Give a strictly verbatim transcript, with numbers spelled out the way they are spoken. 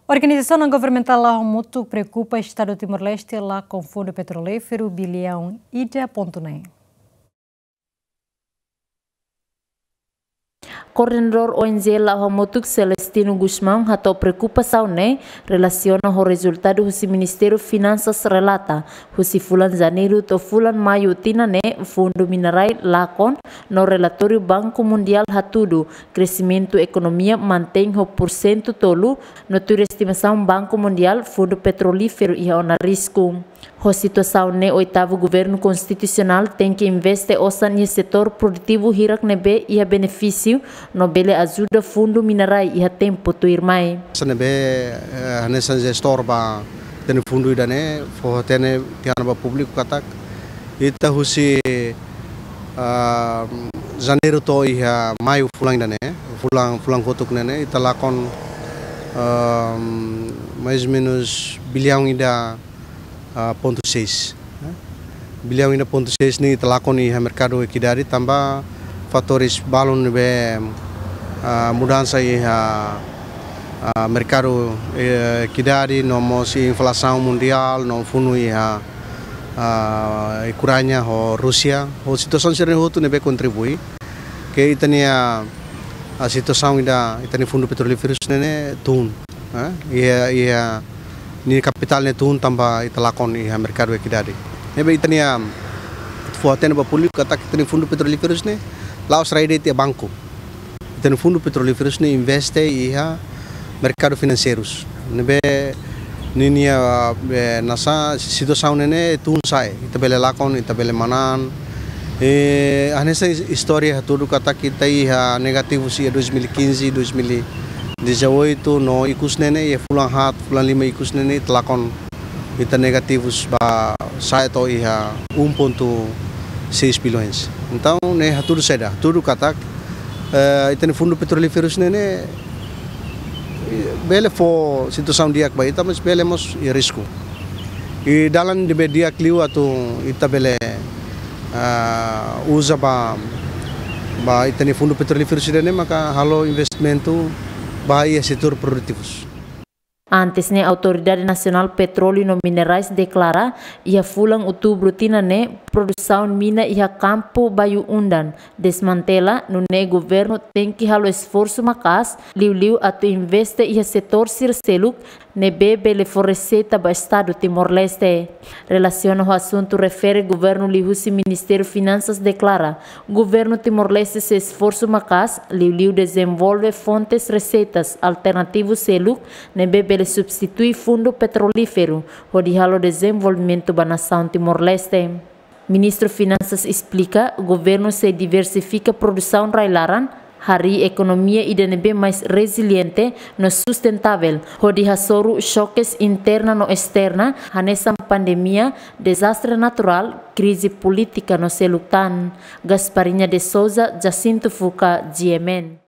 Organizasaun não-governamentál la hamutuk preokupa Estadu Timor-Leste lakon Fundu Petrolíferu biliaun ida pontu neen. Koordenadór O N G la hamutuk Celestino Gusmão hato'o preokupasaun ne'e relasiona ho rezultadu husi Ministériu Finansas relata, husi fulan Janeiru to'o fulan Maiu tinan ne'e fundu minerais lakon, no relatóriu Banku Mundiál hatudu kresimentu ekonomia mantein ho pursentu tolu, no tuir estimasaun Banku Mundiál, Fundu Petrolíferu iha ona risku. Ho situasaun ne'e, oitavu Governu Konstitusionál tenke investe osan iha setór produtivu hirak ne'ebé iha benefísiu, no bele ajuda fundu minerais iha tempu tuirmai. Hanesan ne'ebé, eh, hanesan jestór ba ita-nia fundu ida-ne'e, fó hatene tiha ona ba públiku katak ita husi, ah, Janeiru to'o iha Maiu fulan ida-ne'e, fulan, fulan kotuk ne'e ne'e, ita lakon, ah, mais ou menus biliaun ida, ah, pontu seis, eh. Biliaun ida pontu seis ne'e ita lakon iha merkadu ekidade tanba fatores balun ne'ebé, ah, mudansa iha, ah, merkadu, eh, ekidade, no mós inflasaun mundiál, no funu iha, ah, Ukraina ho Rúsia, ho situasaun sira-ne'e hotu ne'ebé kontribui ke ita-nia, ah, situasaun ida, ita-nia Fundu Petrolíferu ne'e ne'e tun, eh, iha, iha nia kapitál ne'e tun tanba ita lakon iha merkadu ekidade. Ne'ebé ita-nia, fó hatene ba públiku katak ita-nia Fundu Petrolíferu ne'e la'ós rai de'it iha banku. Ita-nia Fundu Petrolíferu ne'e investe iha merkadu finanseirus. Ne'ebé ninia, eh, hanesan situasaun ne'e ne'e tun sa'e, ita bele lakon, ita bele manán. Eh, hanesan is-, istória hatudu katak ita iha negativu husi dois mil e quinze, dois mil e dezoito, no ikus ne'e ne'e, iha fulan haat, fulan lima ikus ne'e ne'e, ita lakon, ita negativus ba sa'e to'o iha um ponto seis bilhões. Entaun, ne'e hatudu saida, hatudu katak, eh, ita-nia Fundu Petrolíferu ne'e ne'e, bele fó situasaun di'ak ba ita, mas bele mós iha risku. I dalan ne'ebé di'ak liu atu ita bele, ah, uza ba, ba ita-nia Fundu Petrolíferu ida-ne'e maka halo investimentu ba iha setór produtivus. Antes ne'e, Autoridade Nasionál Petróleu no Minerais deklara, iha fulan Outubru tinan ne'e, produsaun mina iha kampu Bayu Undan desmantela, nune'e governu tenke halo esforsu maka'as, liuliu atu investe iha setór sira seluk ne'ebé bele fó reseita ba Estadu Timor-Leste. Relasiona ho asuntu refere governu liuhusi Ministériu Finansas deklara, governu Timor-Leste sei esforsu maka'as, liuliu dezenvolve fontes reseitas alternativus seluk ne'ebé bele substitui Fundu Petrolíferu, hodi halo dezenvolvimentu ba nasaun Timor-Leste. Ministru Finansas esplika, governu sei diversifika produsaun rai-laran, harii ekonomia ida ne'ebé mais reziliente no sustentável, hodi hasoru xokes interna no esterna, hanesan pandemia, dezastre naturál, krize polítika no seluk tan. Gasparinha de Sousa, Jacinto Fuca, G M N.